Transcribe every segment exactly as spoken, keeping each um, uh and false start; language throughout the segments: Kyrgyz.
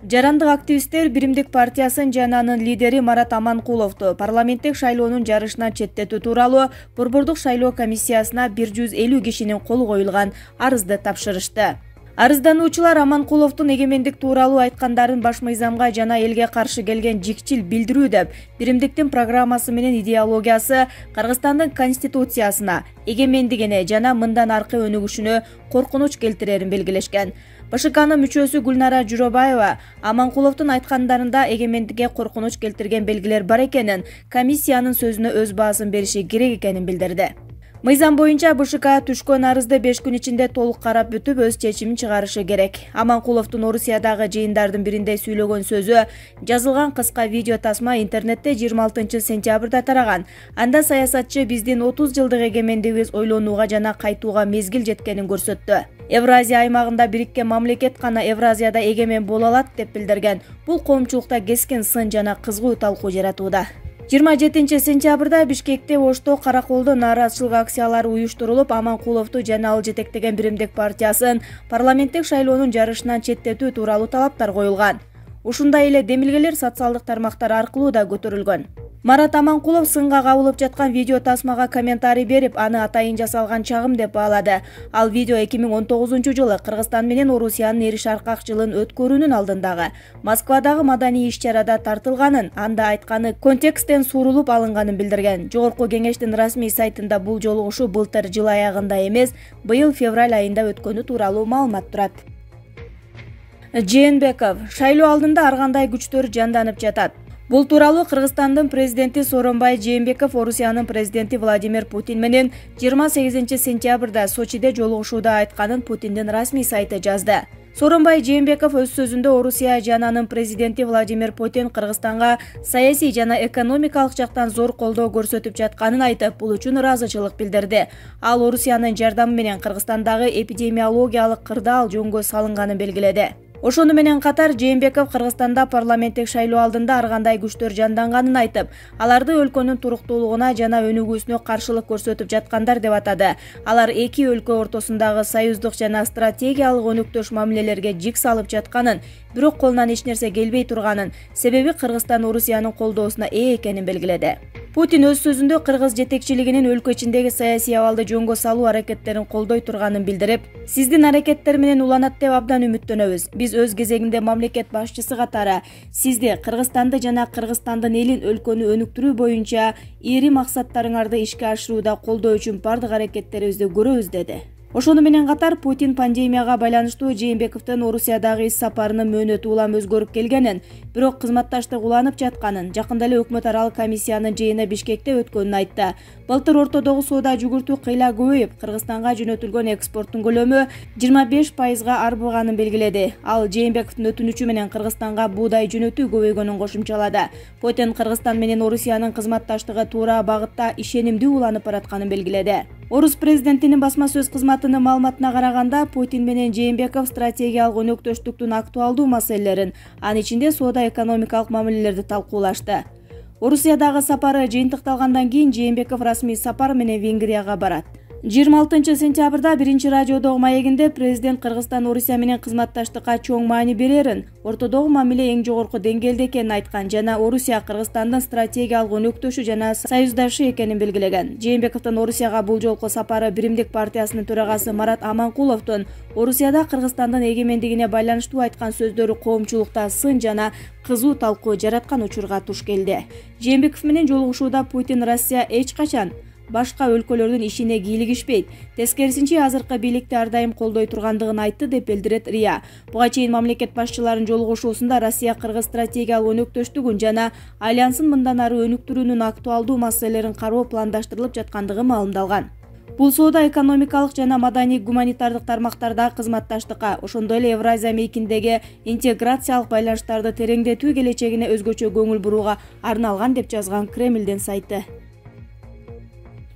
Жарандык активисттер Биримдик партиясын жана анын лидери Марат Аманкуловду парламенттик шайлоонун жарышынан четтетүү тууралуу Борбордук шайлоо комиссиясына бир жүз элүү кишинин колу коюлган арызды тапшырышты. Арыздануучулар Аманкуловдун эгемендик тууралуу айткандарын баш мыйзамга жана элге каршы келген жикчил билдирүү деп, Биримдиктин программасы менен идеологиясы Кыргызстандын конституциясына, эгемендигине жана мындан аркы өнүгүшүнө коркунуч келтирерин белгилешкен. БШКнын мүчөсү Гүлнара Журобаева Аманкуловдун айткандарында эгемендикке коркунуч келтирген белгилер бар экенин, комиссиянын сөзүнө өз баасын бериши керек экенин билдирди. Мыйзам боюнча БШК түшкөн арызды беш күн ичинде толук карап бүтүп, өз чечимин чыгарышы керек. Аманкуловдун Орусиядагы жыйындардын биринде сүйлөгөн сөзү жазылган кыска видео тасма интернетте жыйырма алтынчы сентябрда тараган. Анда саясатчы биздин отуз жылдык эгемендигибиз ойлонууга жана кайтууга мезгил жеткенин көрсөттү. Евразия аймагында бириккен мамлекет гана Евразияда эгемен боло алат деп билдирген. Бул коомчулукта кескен сын жана кызгуу талкуу жаратууда. жыйырма жетинчи сентябрда Бишкекте Ошто Караколдо нааразычылык акциялары уюштурулуп, Аманкуловду жана ал жетектеген Биримдик партиясын парламенттик шайлоонун жарышынан четтетүү тууралуу талаптар коюлган. Ушундай эле демилгелер социалдык тармактар аркылуу да көтөрүлгөн. Марат Аманкулов сынга кабылып жаткан видео тасмага комментарий берип, аны атайын жасалган чагым деп баалады. Ал видео эки миң он тогузунчу жылы Кыргызстан менен Орусиянын эри шаркак жылын өткөрүүнүн алдындагы Москвадагы маданий иш-чарада тартылганын, анда айтканы контексттен сурулуп алынганын билдирген. Жогорку кеңештин расмий сайтында бул жолугушуу былтыр жыл аягында эмес, быйыл февраль айында өткөнү тууралуу маалымат турат. Жээнбеков: шайлоо алдында ар кандай күчтөр жанданып жатат. Бул тууралуу Кыргызстандын президенти Сооронбай Жээнбеков Орусиянын президенти Владимир Путин менен жыйырма сегизинчи сентябрда Сочиде жолугушууда айтканын Путиндин расмий сайты жазды. Сооронбай Жээнбеков өз сөзүндө Орусия жана анын президенти Владимир Путин Кыргызстанга саясий жана экономикалык жактан зор колдоо көрсөтүп жатканын айтып, бул үчүн ыраазычылык билдирди. Ал Орусиянын жардамы менен Кыргызстандагы эпидемиологиялык кырдаал жөнгө салынганын белгиледи. Ошону менен катар Жээнбеков Кыргызстанда парламенттик шайлоо алдында ар кандай күчтөр жанданганын айтып, аларды өлкөнүн туруктуулугуна жана өнүгүүсүнө каршылык көрсөтүп жаткандар деп атады. Алар эки өлкө ортосундагы союздук жана стратегиялык өнүктөш мамилелерге жик салып жатканын, бирок колунан эч нерсе келбей турганын, себеби Кыргызстан Орусиянын колдоосуна ээ экенин белгиледи. Путин өз сөзүндө кыргыз жетекчилигинин өлкө ичиндеги саясий абалды жөнгө салуу аракеттерин колдой турганын билдирип, сиздин аракеттер менен уланат деп абдан үмүттөнөбүз. Биз өз кезегинде мамлекет башчысы катары сизди, Кыргызстанды жана Кыргызстандын элин, өлкөнү өнүктүрүү боюнча ири максаттарыңарды ишке ашырууда колдоо үчүн бардык аракеттерибизди көрөбүз деди. Ошону менен катар Путин пандемияга байланыштуу Жээнбековдун Орусиядагы ис сапарынын мөөнөтү улам өзгөрүп келгенин, бирок кызматташтык уланып жатканын, жакында эле өкмөт аралык комиссиянын жыйыны Бишкекте өткөнүн айтты. Былтыр ортодогу соода жүгүртүү кыйла көбөйүп, Кыргызстанга жөнөтүлгөн экспорттун көлөмү жыйырма беш пайызга арбыганын белгиледи. Ал Жээнбековдун өтүнүчү менен Кыргызстанга буудай жөнөтүү көбөйгөнүн кошумчалады. Путин Кыргызстан менен Орусиянын кызматташтыгы туура багытта ишенимдүү уланып баратканын белгиледи. Орус президентинин басма сөз кызматынын маалыматына караганда, Путин менен Жээнбеков стратегиялык өнөктөштүктүн актуалдуу маселелерин, анын ичинде соода-экономикалык мамилелерди талкуулашты. Орусиядагы сапары жыйынтыкталгандан кийин Жээнбеков расмий сапар менен Венгрияга барат. жыйырма алтынчы сентябрда биринчи радиодогу маегинде президент Кыргызстан Орусия менен кызматташтыкка чоң маани берерин, ортодогу мамиле эң жогорку деңгээлде экенин айткан жана Орусия Кыргызстандын стратегиялык өнөктөшү жана союздашы экенин белгилеген. Жээнбековдун Орусияга бул жолку сапары Биримдик партиясынын төрагасы Марат Аманкуловдун Орусияда Кыргызстандын эгемендигине байланыштуу айткан сөздөрү коомчулукта сын жана кызуу талкуу жараткан учурга туш келди. Жээнбеков менен жолугушууда Путин Россия эч качан башка өлкөлөрдүн ишине кийлигишпейт, тескерисинче азыркы бийликти ар дайым колдой тургандыгын айтты деп билдирет РИА. Буга чейин мамлекет башчыларынын жолугушуусунда Россия Кыргыз стратегиялык өнөктөштүгүн жана альянсын мындан ары өнүктүрүүнүн актуалдуу маселелерин кароо пландаштырылып жаткандыгы маалымдалган. Бул соода-экономикалык жана маданий гуманитардык тармактарда кызматташтыкка, ошондой эле Евразия мейкиндеги интеграциялык байланыштарды тереңдетүү келечегине өзгөчө көңүл бурууга арналган деп жазган Кремлдин сайты.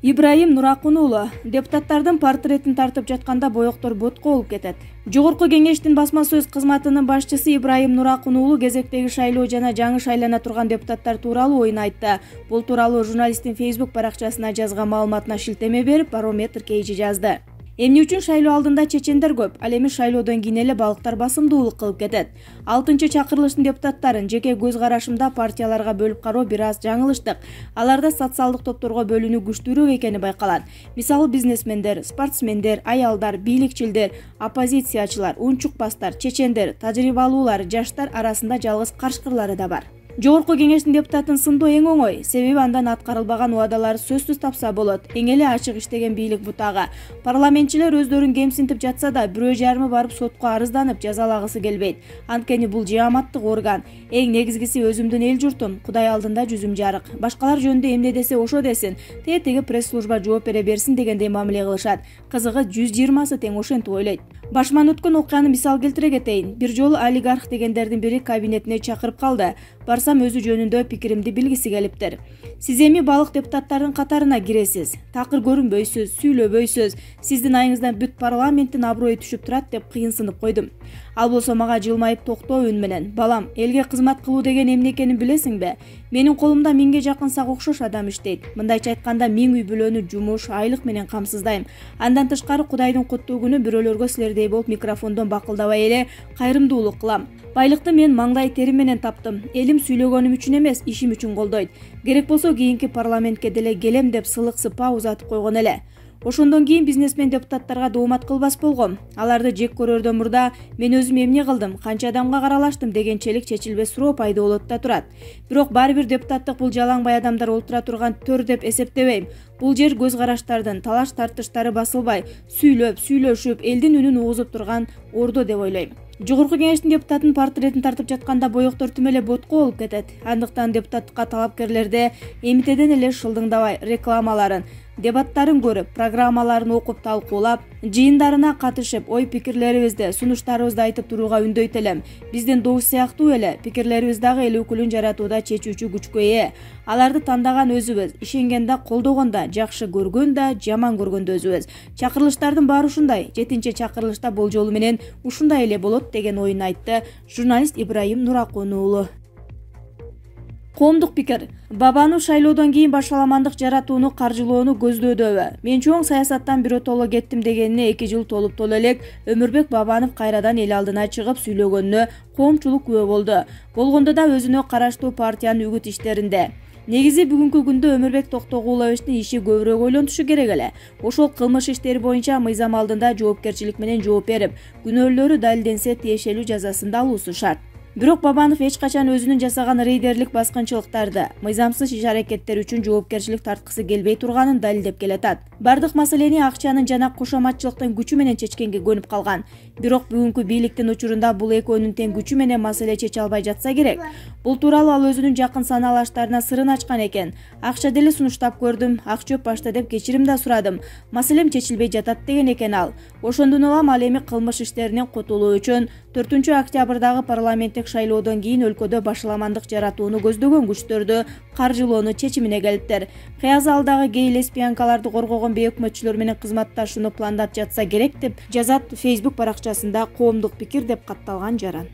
Ибраим Нуракун уулу: депутаттардын портретин тартып жатканда боектор ботко болуп кетет. Жогорку кеңештин басма сөз кызматынын башчысы Ибраим Нуракун уулу кезектеги шайлоо жана жаңы шайлана турган депутаттар тууралуу оюн айтты. Бул тууралуу журналисттин Facebook баракчасына жазган маалыматына шилтеме берип, Барометр кейжи жазды. Эмне үчүн шайлоо алдында чечендер көп, ал эми шайлоодон кийин эле балыктар басымдуулук кылып кетет. алтынчы чакырылыштын депутаттарын жеке көз карашымда партияларга бөлүп кароо бир аз жаңылыштык. Аларда социалдык топторго бөлүнүү күчтүүрөөк экени байкалат. Мисалы бизнесмендер, спортсмендер, аялдар, бийликчилдер, оппозициячылар, унчукпастар, чечендер, тажрыйбалуулар, жаштар арасында жалгыз каршкырлары да бар. Жогорку кеңештин депутатын сындоо эң оңой, себеби андан аткарылбаган убадалар сөзсүз тапса болот. Эң эле ачык иштеген бийлик бутагы. Парламентчилер өздөрүн кемсинтип жатса да, бирөө жарымы барып сотко арызданып жазалагысы келбейт. Анткени бул жааматтык орган. Эң негизгиси өзүмдүн эл журтум, Кудай алдында жүзүм жарык. Башкалар жөнүндө эмне десе ошо десин, тетиги пресс-служба жооп бере берсин дегендей мамиле кылышат. Кызыгы жүз жыйырмасы тең ошентип ойлойт. Башман өткөн окуяны мисал келтире кетейин. Бир жолу олигарх дегендердин бири кабинетине чакырып калды. Барсам өзү жөнүндө пикиримди билгиси келиптир. Сиз эми балык депутаттардын катарына киресиз. Такыр көрүнбөйсүз, сүйлөбөйсүз. Сиздин айыңыздан бүт парламенттин аброю түшүп турат деп кыйынсынып койдум. Ал болсо мага жылмайып токтоо үн менен: "Балам, элге кызмат кылуу деген эмне экенин билесиңби? Менин колумда миңге жакын сак окшош адам иштейт. Мындайча айтканда, миң үй бүлөнү жумуш, айлык менен камсыздайм. Андан тышкары Кудайдын куттуу күнү бирөөлөргө силердей болуп микрофондон бакылдабай эле кайрымдуулук кылам. Байлыкты мен маңдай терим менен таптым. Элим сүйлөгөнүм үчүн эмес, ишим үчүн колдойт. Керек болсо кийинки парламентке деле келем" деп сылык-сыпаа узатып койгон эле. Ошондон кийин бизнесмен депутаттарга доомат кылбас болгом. Аларды жек көрөрдөн мурда мен өзүм эмне кылдым, канча адамга каралаштым дегенчелик чечилбес суроо пайда болот да турат. Бирок баары бир депутаттык бул жалаңбай адамдар олтура турган төр деп эсептебейм. Бул жер көз караштардын, талаш тартыштары басылбай, сүйлөп, сүйлөшүп, элдин үнүн угузуп турган ордо деп ойлойм. Жогорку кеңештин депутатын портретин тартып жатканда боектор тим эле ботко болуп кетет. Андыктан депутаттыкка талапкерлерде эмитеден эле шылдыңдабай рекламаларын, дебаттарын көрүп, программаларын окуп талкуулап, жыйындарына катышып, ой пикирлерибизди, сунуштарыбызды айтып турууга үндөйт элем. Биздин добуш сыяктуу эле пикирлерибиз дагы эл өкүлүн жаратууда чечүүчү күчкө ээ. Аларды тандаган өзүбүз, ишенген да, колдогон да, жакшы көргөн да, жаман көргөн да өзүбүз. Чакырылыштардын баары ушундай. Жетинчи чакырылышта бул жолу менен ушундай эле болот деген оюн айтты журналист Ибраим Нуракун уулу. Коомдук пикир. Бабанов шайлоодон кийин башаламандык жаратууну каржылоону көздөөдүбү? Мен чоң саясаттан биротоло кеттим дегенине эки жыл толуп толо элек Өмүрбек Бабанов кайрадан эл алдына чыгып сүйлөгөнүнө коомчулук күбө болду. Болгондо да өзүнө караштуу партиянын үгүт иштеринде. Негизи бүгүнкү күндө Өмүрбек Токтогуловичтин иши көбүрөөк ойлонушу керек эле. Ошол кылмыш иштери боюнча мыйзам алдында жоопкерчилик менен жооп берип, күнөөлөрү далилденсе тиешелүү жазасын да алуусу шарт. Бирок Бабанов эч качан өзүнүн жасаган рейдерлик баскынчылыктарды, мыйзамсыз иш-аракеттер үчүн жоопкерчилик тарткысы келбей турганын далилдеп келатат. Бардык маселени акчанын жана кошоматчылыктын күчү менен чечкенге көнүп калган. Бирок бүгүнкү бийликтин учурунда бул экөөнүн тең күчү менен маселе чече албай жатса керек. Бул тууралуу ал өзүнүн жакын санаалаштарына сырын ачкан экен. Акча деле сунуштап көрдүм, ак чөп башта деп кечирим да сурадым. Маселем чечилбей жатат деген экен ал. Ошондон улам ал эми кылмыш иштеринен кутулуу үчүн төртүнчү октябрдагы парламенттик шайлоодон кийин өлкөдө башаламандык жаратууну көздөгөн күчтөрдү каржылоону чечимине келиптир. Кыязы алдагы гей лесбиянкаларды коргогон бейөкмөтчүлөр менен кызматташууну пландап жатса керек деп жазат Facebook баракчасында Коомдук пикир деп катталган жаран.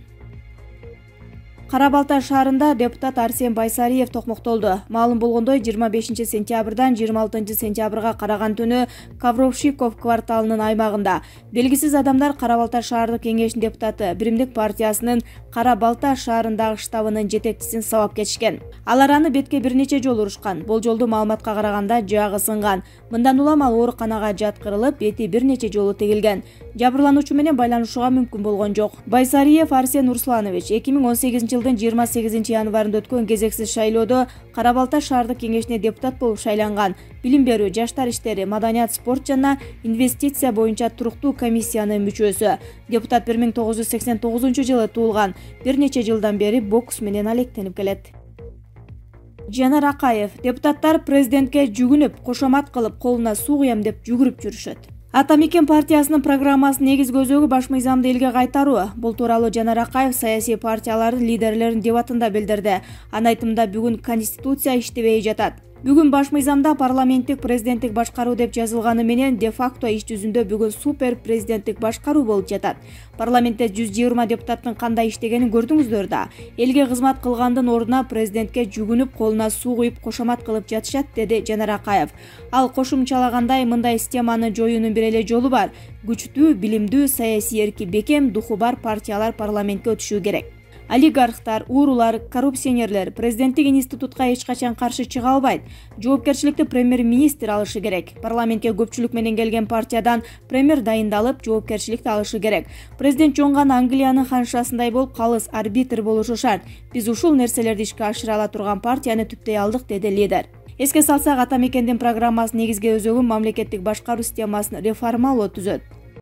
Кара Балта шаарында депутат Арсен Байсариев токмоктолду. Маалым болгондой, жыйырма бешинчи сентябрдан жыйырма алтынчы сентябрга караган түнү Кавровшиков кварталынын аймагында белгисиз адамдар Кара Балта шаардык кеңешинин депутаты Биримдик партиясынын Кара Балта шаарындагы штабынын жетекчисин сабап кетишкен. Алар аны бетке бир нече жолу урушкан. Болжолдуу маалыматка караганда жаагы сынган. Мындан улам ал ооруканага жаткырылып, бети бир нече жолу тегилген. Жабырлануучу менен байланышууга мүмкүн болгон жок. Байсариев Арсен Русланович эки миң он сегизинчи жылдын жыйырма сегизинчи январында өткөн кезексиз шайлоодо Кара Балта шаардык кеңешине депутат болуп шайланган. Билим берүү, жаштар иштери, маданият, спорт жана инвестиция боюнча туруктуу комиссиянын мүчөсү. Депутат бир миң тогуз жүз сексен тогузунчу жылы туулган. Бир нече жылдан бери бокс менен алектенип келет. Жанар Акаев: депутаттар президентке жүгүнүп, кошомат кылып, колуна суу куям деп жүгүрүп жүрүшөт. Ата Мекен партиясынын программасынын негизги көзөгү баш мыйзамды элге кайтаруу. Бул тууралуу Жанар Акаев саясий партиялардын лидерлеринин дебатында билдирди. Анын айтымында бүгүн Конституция иштебей жатат. Бүгүн баш мыйзамда парламенттик президенттик башкаруу деп жазылганы менен де факто иш жүзүндө бүгүн супер президенттик башкаруу болуп жатат. Парламентте жүз жыйырма депутаттын кандай иштегенин көрдүңүздөр да. Элге кызмат кылгандын ордуна президентке жүгүнүп, колуна суу куюп кошомат кылып жатышат, деди Жанар Акаев. Ал кошумчалагандай, мындай системаны жоюунун бир эле жолу бар. Күчтүү, билимдүү, саясий эрки бекем, духу бар партиялар парламентке өтүшү керек. Олигархтар, уурулар, коррупционерлер президенттик институтка эч качан каршы чыга албайт. Жоопкерчиликти премьер-министр алышы керек. Парламентке көпчүлүк менен келген партиядан премьер дайындалып, жоопкерчиликти алышы керек. Президент жоңган Англиянын ханшасындай болуп, калыс арбитр болушу шарт. Биз ушул нерселерди ишке ашыра ала турган партияны түптөй алдык, деди лидер. Эске салсак, Ата мекендин программасы негизги өзөгүн мамлекеттик башкаруу системасын реформалоо түзөт.